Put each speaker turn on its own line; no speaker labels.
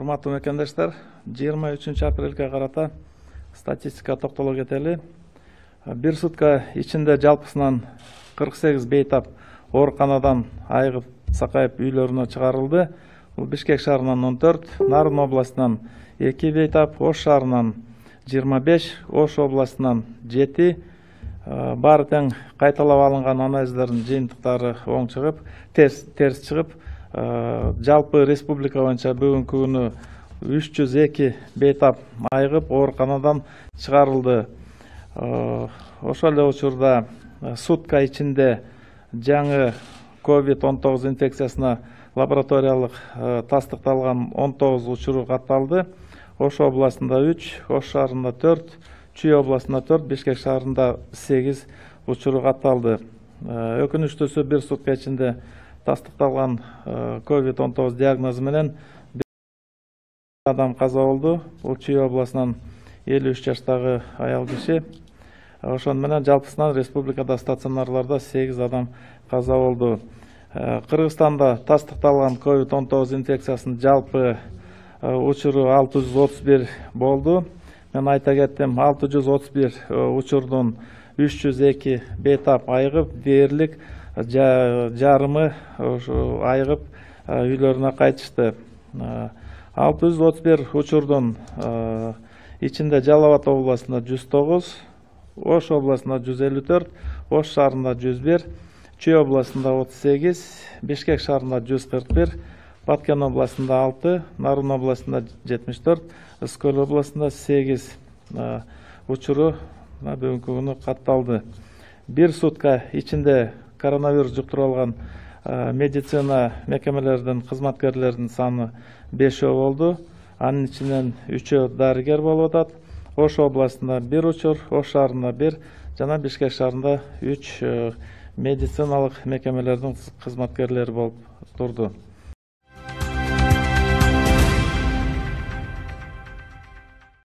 Урматтуу мекендештер, 23 апрелге карата статистика токтоло кетели. Бир сутка ичинде жалпысынан 48 бейтап ооруканадан айыгып сакайып үйлөрүнө чыгарылды. Бул Бишкек шаарынан 14, Нарын областынан 2 бейтап, Ош шаарынан 25, Ош областынан 7, баары тең кайталап алынган анализдердин жыйынтыктары оң чыгып, терс чыгып, жалпы республика боюнча бүгүнкү күнү 302 бейтап айыгып ооруканадан чыгарылды. Ошол эле учурда сутка ичинде жаңы COVID-19 инфекциясына лабораториялык тастыкталган 19 учуру катталды. Ош областында 3, Ош шаарында 4, Чүй областында 4, Бишкек шаарында 8 учуру катталды. Өкүнүчтүүсү бир сутка ичинде тастыкталган COVID-19 диагнозу менен адам каза болду. Бул Чүй областынан 53 жаштагы аял киши. Ошон менен жалпысынан республикада стационарларда 8 адам каза болду. Кыргызстанда тастыкталган COVID-19 инфекциясынын жалпы учуру 631 болду. Мен айта кеттим, 631 учурдун 302 бейтап айыгып, дээрлик жарымы айыгып үйлөрүнө кайтышты. 631 учурдун ичинде Жалал Абад областында 109, Ош областында 154, Ош шаарында 101, Чүй областында 38, Бишкек шаарында 141, Баткен областында 6, Нарын областында 74, Ыскөл областында 8 учуру бүгүнкү күнү катталды. Бир сутка ичинде коронавирус жуктуруп алган медицина мекемелеринин кызматкерлеринин саны 5 болду. Анын ичинен 3 дарыгер болуп атат. Ош областында 1 учур, Ош шаарында 1 жана Бишкек шаарында 3 медициналык мекемелердин кызматкерлери болуп турду.